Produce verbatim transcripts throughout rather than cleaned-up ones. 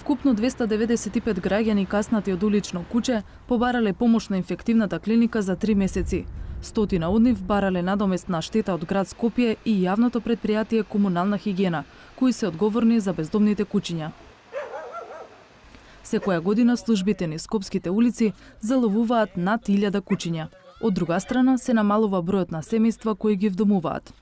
Вкупно двеста деведесет и пет граѓани каснати од улично куче побарале помош на инфективната клиника за три месеци. Стотина од нив барале надоместна штета од град Скопје и јавното предпријатие Комунална хигиена, кои се одговорни за бездомните кучиња. Секоја година службите низ скопските улици заловуваат над илјада кучиња. Од друга страна се намалува бројот на семејства кои ги вдомуваат.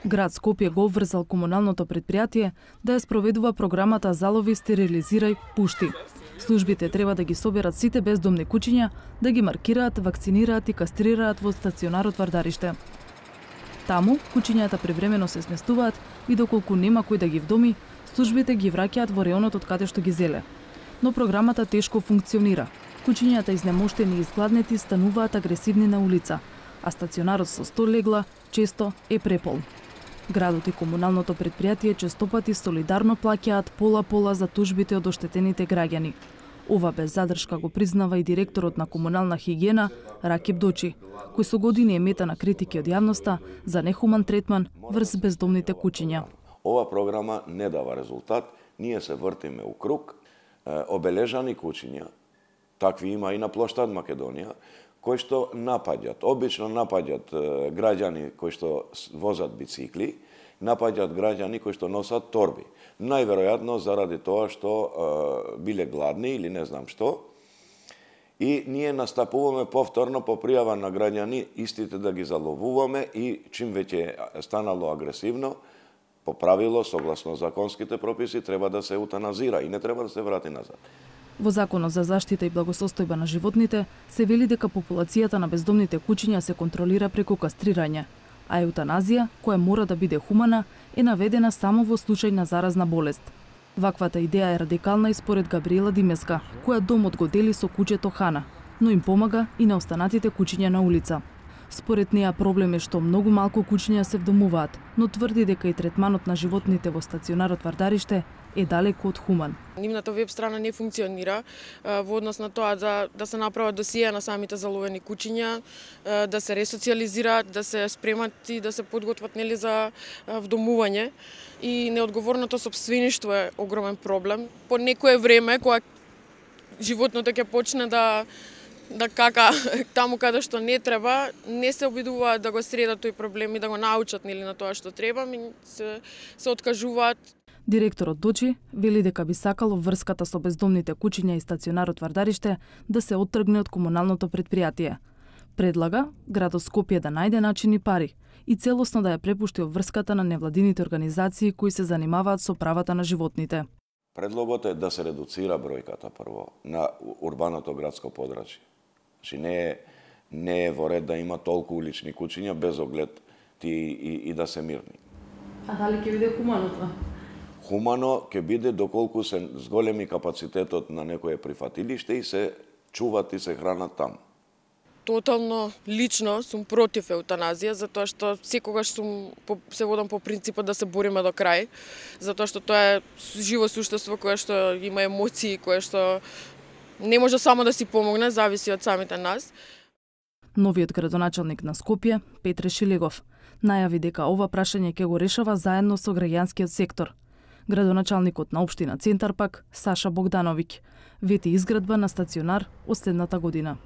Град Скопје го обврзал комуналното предпријатие да ја спроведува програмата Залови, стерилизирај, пушти. Службите треба да ги соберат сите бездомни кучиња, да ги маркираат, вакцинираат и кастрираат во стационарот Вардариште. Таму кучињата превремено се сместуваат и доколку нема кој да ги вдоми, службите ги враќаат во реонот од каде што ги зеле. Но програмата тешко функционира. Кучињата изнемоштени и изгладнети стануваат агресивни на улица, а стационарот со сто легла често е препол. Градот и комуналното предпријатие честопати солидарно плаќаат пола-пола за тужбите од оштетените граѓани. Ова без задршка го признава и директорот на Комунална хигиена Ракип Дочи, кој со години е мета на критики од јавноста за нехуман третман врз бездомните кучиња. Ова програма не дава резултат, ние се вртиме у круг, обележани кучиња, такви има и на плоштад Македонија, кои што напаѓат, обично напаѓат граѓани кои што возат бицикли, напаѓат граѓани кои што носат торби. Најверојатно заради тоа што е, биле гладни или не знам што. И ние настапуваме повторно по пријава на граѓани, истите да ги заловуваме и чим веќе станало агресивно, по правило, согласно законските прописи, треба да се еутаназира и не треба да се врати назад. Во Законот за заштита и благосостојба на животните се вели дека популацијата на бездомните кучиња се контролира преку кастрирање, а еутаназија, која мора да биде хумана, е наведена само во случај на заразна болест. Ваквата идеја е радикална и според Габриела Димеска, која домот го дели со кучето Хана, но им помага и на останатите кучиња на улица. Според неа проблем е што многу малку кучиња се вдомуваат, но тврди дека и третманот на животните во стационарот Вардареште е далеку од хуман. Нивната веб страна не функционира во однос на тоа да, да се направат досија на самите заловени кучиња, да се ресоциализираат, да се спремат и да се подготват нели за вдомување. И неодговорното сопствеништво е огромен проблем. По некое време, кога животното ќе почне да да кака таму каде што не треба, не се обидуваат да го средат тој проблем и да го научат нели на тоа што треба, ми се, се откажуваат. Директорот Дочи вели дека би сакало врската со бездомните кучиња и стационарот Вардариште да се оттргне од комуналното предпријатие. Предлага градот Скопје да најде начини пари и целосно да ја препушти врската на невладините организации кои се занимаваат со правата на животните. Предлогот е да се редуцира бројката прво на урбаното градско подрачје. Значи не е, не е во ред да има толку улични кучиња без оглед ти и, и да се мирни. А дали ќе биде хумано тоа? Хумано ќе биде доколку се зголеми капацитетот на некое прифатилиште и се чуват и се хранат таму. Тотално лично сум против еутаназија, затоа што секогаш сум се водам по принципот да се бориме до крај, затоа што тоа е живо суштество кое што има емоции, кое што не може само да си помогне, зависи од самите нас. Новиот градоначалник на Скопје, Петре Шилегов, најави дека ова прашање ќе го решава заедно со граѓанскиот сектор. Градоначалникот на општина Центар пак, Саша Богдановиќ, вети изградба на стационар од следната година.